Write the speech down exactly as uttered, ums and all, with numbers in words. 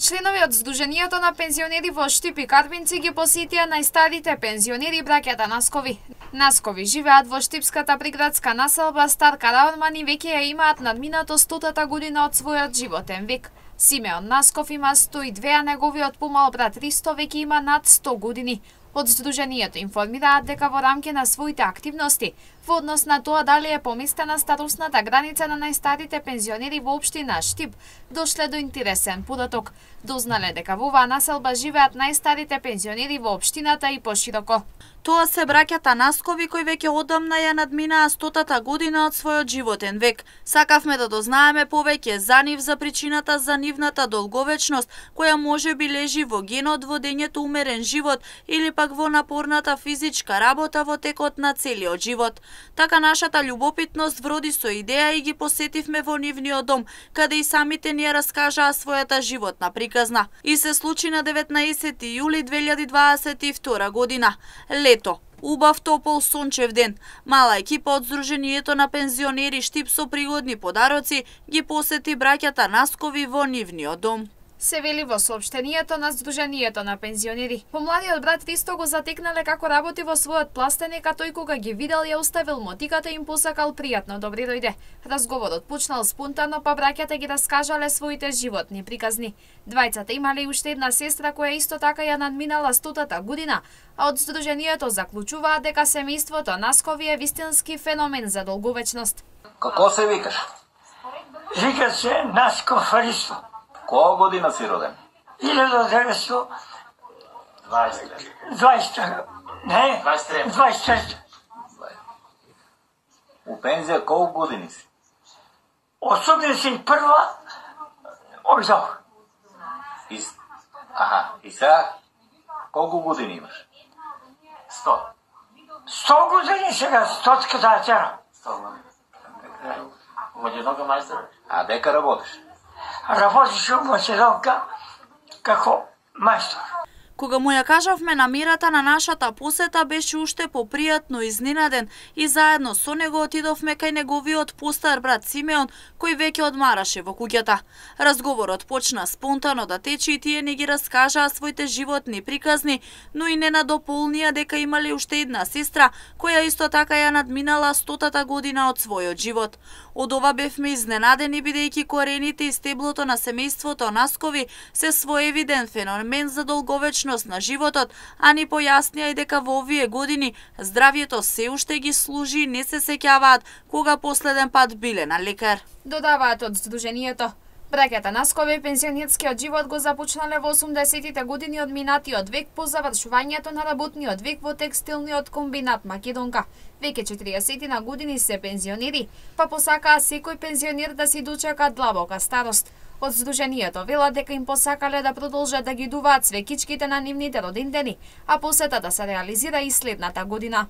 Членови од Сдруженијето на пензионери во Штип и Карвинци ги посетија најстарите пензионери браќата Наскови. Наскови живеат во штипската приградска населба Стар Караван и веќе ја имаат надминато стотата година од својот животен век. Симеон Насков има сто и две, а неговиот помал брат Ристо веќе има над сто години. Од Сдруженијето информираат дека во рамки на своите активности, во однос на тоа дали е поместена старосната граница на најстарите пензионери во општина Штип, дошле до интересен податок. Дознале дека во оваа населба живеат најстарите пензионери во општината и пошироко. Тоа се браќата Наскови кои веќе одамна ја надминаа стотата година од својот животен век. Сакавме да дознаеме повеќе за нив, за причината за нивната долговечност, која може би лежи во генот, водењето умерен живот или пак во напорната физичка работа во текот на целиот живот. Така нашата љубопитност вроди со идеја и ги посетивме во нивниот дом, каде и самите ни ја раскажаа својата животна приказна. И се случи на деветнаесети јули две илјади дваесет и втора година. Лето, убав топол сончев ден. Мала екипа од Сдруженијето на пензионери Штип со пригодни подароци ги посети браќата Наскови во нивниот дом. Се вели во соопштенијето на Сдруженијето на пензионери. Помладиот брат Ристо го затекнале како работи во својот пластеник, а тој кога ги видел ја оставил мотиката и им посакал пријатно добри дојде. Разговорот почнал спонтано, па браќата ги раскажале своите животни приказни. Двајцата имале уште една сестра која исто така ја надминала стотата година, а од Сдруженијето заклучуваат дека семејството Наскови е вистински феномен за долговечност. Како се викаш? Вика се Насков Ристо. Која година си роден? илјада деветстотини и дваесет. Не, дваесет трета. У пензија колку години си? осумдесет и прва одов. И... Аха, и сега колку години имаш? Сто. Сто години сега, стотската тера. Сто години. А дека работиш? Работиш во Македонка како мајстор. Кога му ја кажавме намерата на нашата посета, беше уште попријатно изненаден и заедно со него отидовме кај неговиот постар брат Симеон, кој веќе одмараше во куќата. Разговорот почна спонтано да тече и тие не ги раскажаа своите животни приказни, но и не надополнија дека имале уште една сестра, која исто така ја надминала стотата година од својот живот. Од ова бевме изненадени, бидејќи корените и стеблото на семејството Наскови се своевиден феномен за долговечност на животот, а ни појаснија и дека во овие години здравјето се уште ги служи и не се сеќаваат кога последен пат биле на лекар. Додаваат од Сдруженијето. Браќата Наскови пензионерскиот живот го започнале во осумдесетите години од минатиот век по завршувањето на работниот век во текстилниот комбинат Македонка. Веќе четириесет години се пензионери, па посакаа секој пензионер да си дочека длабока старост. Од Сдруженијето велат дека им посакале да продолжат да ги дуваат свекичките на нивните родендени, а посетата се реализира и следната година.